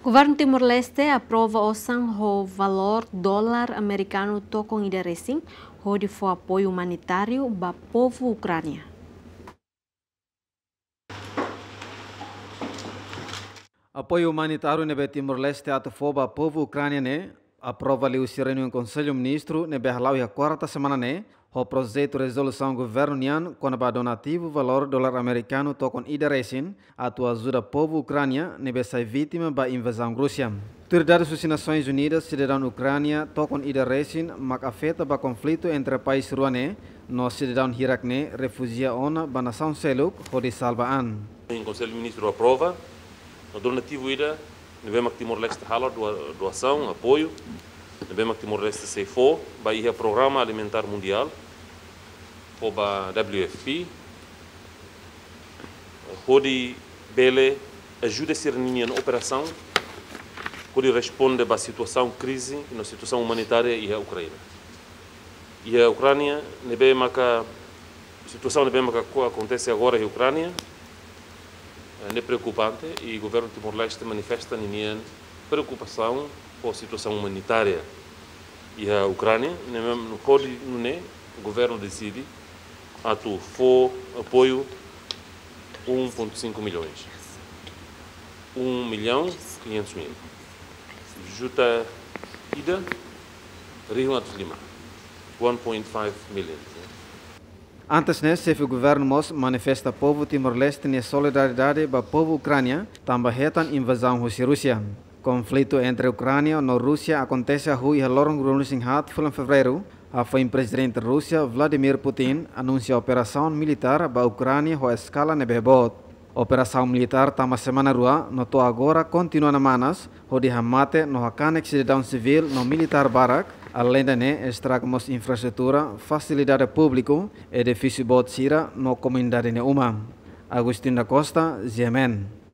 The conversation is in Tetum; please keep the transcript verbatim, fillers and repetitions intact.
Governu Timor-Leste aprova osan ho valór dolar amerikanu tokon ida resin hodi fó apoiu umanitáriu ba povu Ukránia. Apoiu umanitáriu ne'ebé Timor-Leste atu fó ba povu Ukránia ne'e aprova liuhusi reuniaun Konsellu Ministru ne'ebé hala'o iha kuarta semana ne'e, ho projetu rezolusaun governu nian kona-ba donativu valór dolar amerikanu tokon ida resin atu ajuda povu Ukránia ne'ebé sai vítima ba invazaun Rúsia. Tuir dadus husi Nasoins Unidas, sidadaun Ukránia tokon ida resin mak afeta ba konflitu entre país rua ne'e, no sidadaun hirak ne'e refujia ona ba nasaun seluk hodi salva an. Konsellu Ministru aprova, no donativu ida ne'ebé mak Timor-Leste halo doa-, doasaun, apoiu ne'ebé mak Timor-Leste sei fó ba iha Programa Alimentár Mundiál, fó ba W F P, hodi bele ajuda sira-nia operasaun hodi responde ba situasaun krize no situasaun umanitária iha Ukránia. Iha Ukránia ne'ebé maka, situasaun ne'ebé maka ko-, akontese agora iha Ukránia, eh, ne'e preokupante i governu Timor-Leste manifesta ninia preokupasaun ho situasaun umanitária iha Ukránia, ne'ebé hodi nune'e governu deside atu fó apoiu um ponto cinco milhões. Um milhão quinhentos mil. Juta ida rihun atus lima. One point five million. Antes ne'e, xefe governu mós manifesta povu Timor-Leste nia solidariedade ba povu Ukránia, tanba hetan invazaun husi Rúsia. Konflitu entre Ukránia no Rúsia akontese hahú iha loron ruanulu-resin-haat fulan Fevereiru, hafoin Prezidente Rúsia Vladimir Putin anunsia operasaun militár ba Ukránia ho eskala ne'ebé boot. Operasaun militár tama semana rua, no to'o agora kontinua namanas, hodi hamate no hakanek sidadaun sivíl no militár barak, aleinde ne'e estraga mós infraestrutura, fasilidade públiku, edifísiu boot sira no komunidade nia uma. Agustin da Costa, G M N.